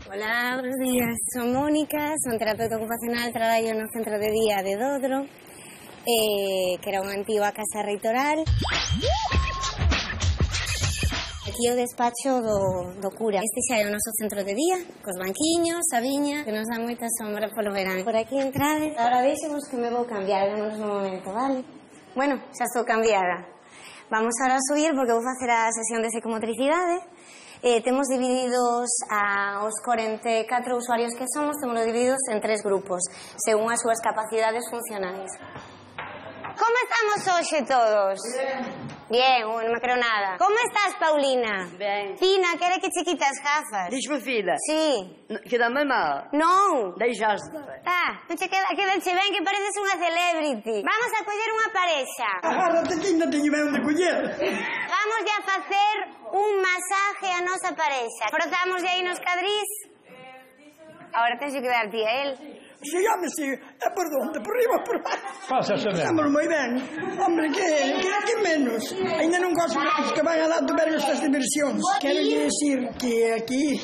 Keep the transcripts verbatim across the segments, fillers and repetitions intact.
Hola, buenos días. Son Mónica, son terapeuta ocupacional, traballo no centro de día de Dodro, eh, que era unha antiga casa reitoral. Aquí o despacho do, do cura. Este xa é o noso centro de día, cos banquiños, a viña, que nos dá moita sombra polo verán. Por aquí entrade. Ahora deixemos que me vou cambiar, vémonos no momento, vale? Bueno, xa estou cambiada. Vamos ahora a subir porque vou facer a sesión de psicomotricidade. Eh, temos divididos a os cuarenta e catro usuarios que somos, temos divididos en tres grupos, según as súas capacidades funcionais. Como estamos hoxe todos? Bien, uh, non me creo nada. Como estás, Paulina? Ben. Fina, quere que che quite as gafas? Dixme, fila. Sí. Quedame mal. Non. Deixaste. Ah, non che queda, quedache ben que pareces unha celebrity. Vamos a coller unha parexa. Agárrate que ainda teño ben onde coller. Vamos a facer un masaje a nosa parexa. Frotamos aí nos cadrís. Ahora tens que dar ti a él. Si, home, si, é por onde, por riba, por baixo. Pásase ben. Estamos moi ben. Hombre, que, que, que menos. Ainda non gosto dos que van a dar ver estas diversións. Quero decir que aquí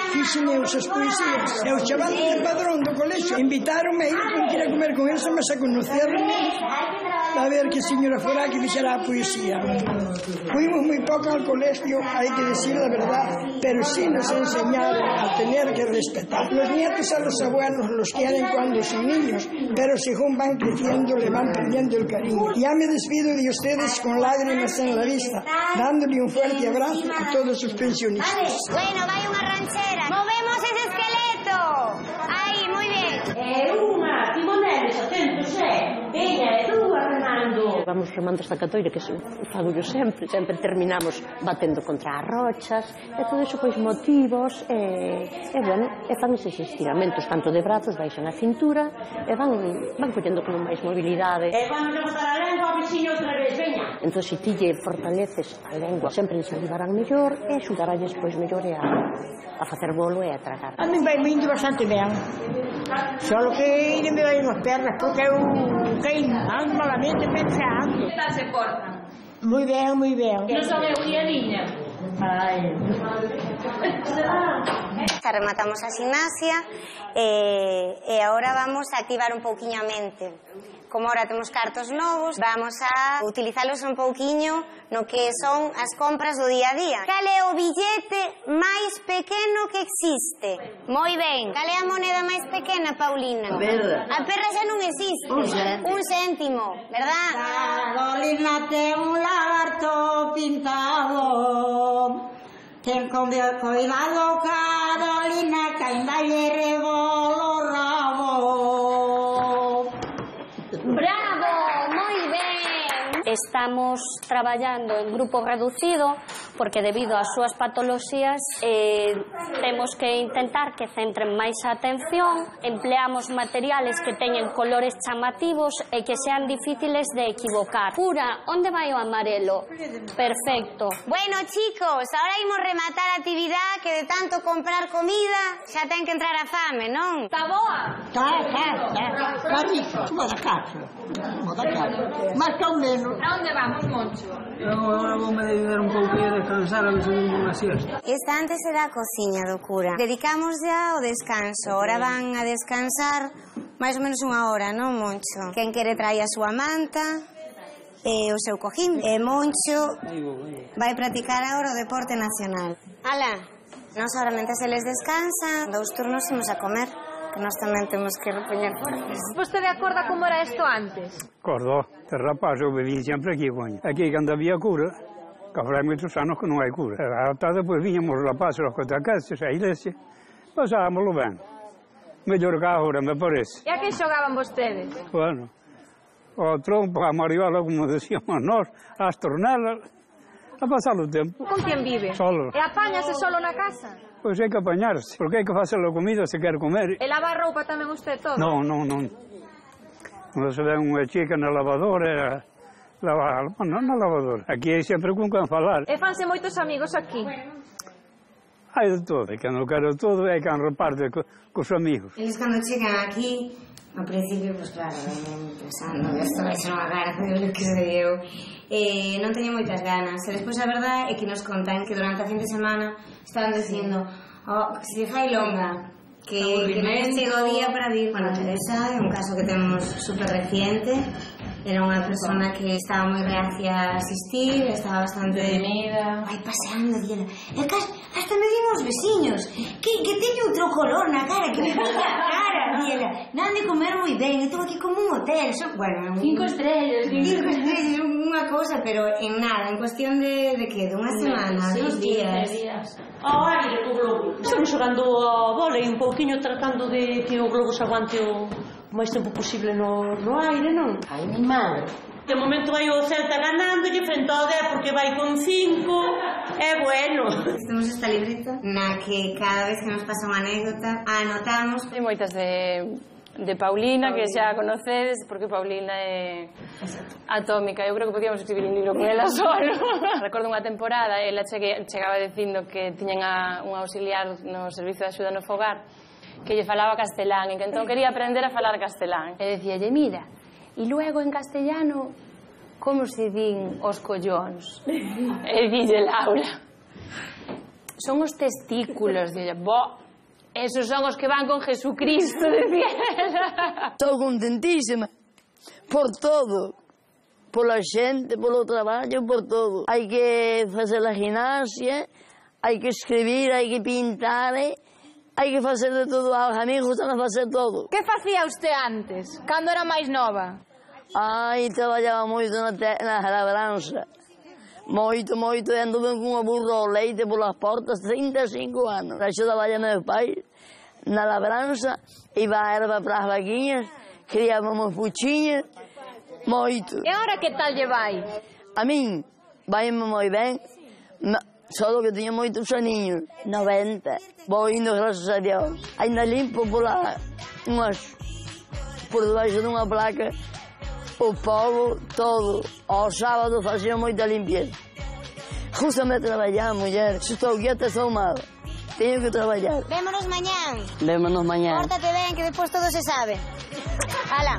fixen eu as poesías. E os chavales de padrón do colexio invitaronme a ir con que ir a comer con eles, mas a conocerme a ver que señora fora que fixera a poesía. Fuimos moi pouco al colegio, hai que decir la verdad, pero sí nos enseñaron a tener que respetar. Los nietos a los abuelos los quieren cuando son niños, pero según van creciendo le van perdiendo el cariño. Ya me despido de ustedes con lágrimas en la vista, dándole un fuerte abrazo a todos sus pensionistas. Bueno, vai unha ranchera. Movemos ese esqueleto. Aí, moi ben. É unha, timoneles, atentos, é. Veña, é dúas remando. Vamos remando esta catoira que fago yo sempre, sempre terminamos batendo contra as rochas, e todo iso pois motivos, e, e bueno, e fan eses estiramentos, tanto de brazos, baixan a cintura, e van, van collendo como máis mobilidade. E vamos a botar a lengua ao veciño outra vez, veña. Entón, se ti lle fortaleces a lengua, sempre les ayudarán mellor, e axudaralles pois mellor a, a facer bolo e a tragar. A mí vai indo bastante ben, só que ainda me vai nas pernas, porque eu caí ando malamente pensando. Está se corta. Moi ben, moi ben. Non son eu e a niña. Ai. Xa rematamos a gimnasia e, e agora vamos a activar un pouquiño a mente. Como ahora temos cartos novos, vamos a utilizalos un pouquiño no que son as compras do día a día. Cal é o billete máis pequeno que existe? Moi ben. Cal é a moneda máis pequena, Paulina? A perra. A perra xa non existe. Un céntimo. Un céntimo, verdad? Carolina ten un lagarto pintado, ten con cuidado, Carolina, que ainda lle rebolo o rabo. ¡Bravo! Moi ben! Estamos traballando en grupo reducido porque debido ás súas patoloxías eh, temos que intentar que centren máis a atención, empleamos materiales que teñen colores chamativos e que sean difíciles de equivocar. Pura, onde vai o amarelo? Perfecto. Bueno, chicos, ahora imos rematar a actividade que de tanto comprar comida xa ten que entrar a fame, non? Está boa? Tá, tá, tá. Tá rico, como da casa. Como da casa. Mas que ao menos. A onde vamos, Moncho? Eu agora vou-me dedicar un pouco a descansar a ver se vengo unha siesta. Esta antes era a cociña do cura. Dedicamos ya ao descanso. Ahora van a descansar máis ou menos unha hora, non, Moncho? Quen quere traer a súa manta e o seu cojín. E Moncho vai practicar agora o deporte nacional. Ala, nós ahora mentre se les descansa, dous turnos imos a comer, que nós tamén temos que repoñer fortes. Vostede acorda como era isto antes? Acordo, de rapaz eu vivía sempre aquí, coño. Aquí cando había cura, que habrá moitos anos que non hai cura. Ata depois viñamos os rapazes aos cotacases, a iglesia, pasábamoslo ben. Mellor que agora, me parece. E a que xogaban vostedes? Bueno, o trompo, a mariola, como decíamos nós, as tornelas, a pasar o tempo. Con quen vive? Solo. E apáñase solo na casa? Pois hai que apañarse, porque hai que facer a comida se quer comer. E lavar roupa tamén usted todo? Non, non, non. Non se ven unha chica na lavadora, lavar, non na lavadora. Aquí hai sempre con quen falar. E fanse moitos amigos aquí? Hai de todo, hai quen non quero todo e hai quen reparte co, cos amigos. Eles cando chegan aquí, ao principio, pues claro, pensando, isto vai ser unha cara, Dios que se deu. Eh, non teño moitas ganas. E despois a verdade é que nos contan que durante a fin de semana estaban dicindo Oh, que se fai longa. Que, que non chega o día para dir, bueno, Teresa é un caso que temos super reciente, era unha persona que estaba moi reacia a asistir, estaba bastante Detenida. Ai, paseando, dile, e casi, hasta me digo os veciños que, que teño outro color na cara, que me pica a cara, dile, nan de comer moi ben, estou aquí como un hotel, so, bueno, un, Cinco estrellas, cinco estrellas, unha cousa, pero en nada, en cuestión de, de que, de unha semana, Sí, dos días. días. Ao aire co globo. Estamos xogando a bola e un pouquiño tratando de que o globo se aguante o máis tempo posible no, no aire, non? Ai, mi madre. De momento vai o Celta ganando e frente ao dez porque vai con cinco. É bueno. Temos esta libreta na que cada vez que nos pasa unha anécdota anotamos. Hai moitas de, de Paulina, que xa conocedes, porque Paulina é atómica. Eu creo que podíamos escribir un libro con ela solo. Recordo unha temporada, ela chegue, chegaba dicindo que tiñan a, un auxiliar no servizo de axuda no fogar que lle falaba castelán e que entón quería aprender a falar castelán. E dicíalle, mira, e luego en castellano como se din os collóns? E dille Laura, son os testículos. Dille, bo, esos son os que van con Jesucristo, decía ela. Estou contentísima por todo, pola xente, polo traballo, por todo. Hai que facer a gimnasia, hai que escribir, hai que pintar, hai que facer de todo. A mí gustan a facer todo. Que facía usted antes, cando era máis nova? Ai, traballaba moito na, te, na labranza. Moito, moito, e anduve con unha burro ao leite polas portas, trinta e cinco anos. Axo traballa meus pais na labranza, iba a erva para as vaquiñas, criábamos puchiñas, moito. E agora que tal lle vai? A min, vai-me moi ben, só que tiña moitos aniños, noventa. Vou indo, graças a Dios. Ainda limpo pola, unhas, por debaixo dunha placa, o polvo todo. Ao sábado facía moita limpieza. Justamente traballar, muller. Se estou quieta, estou mal. Teño que traballar. Vémonos mañán. Vémonos mañán. Pórtate ben, que despois todo se sabe. Hala.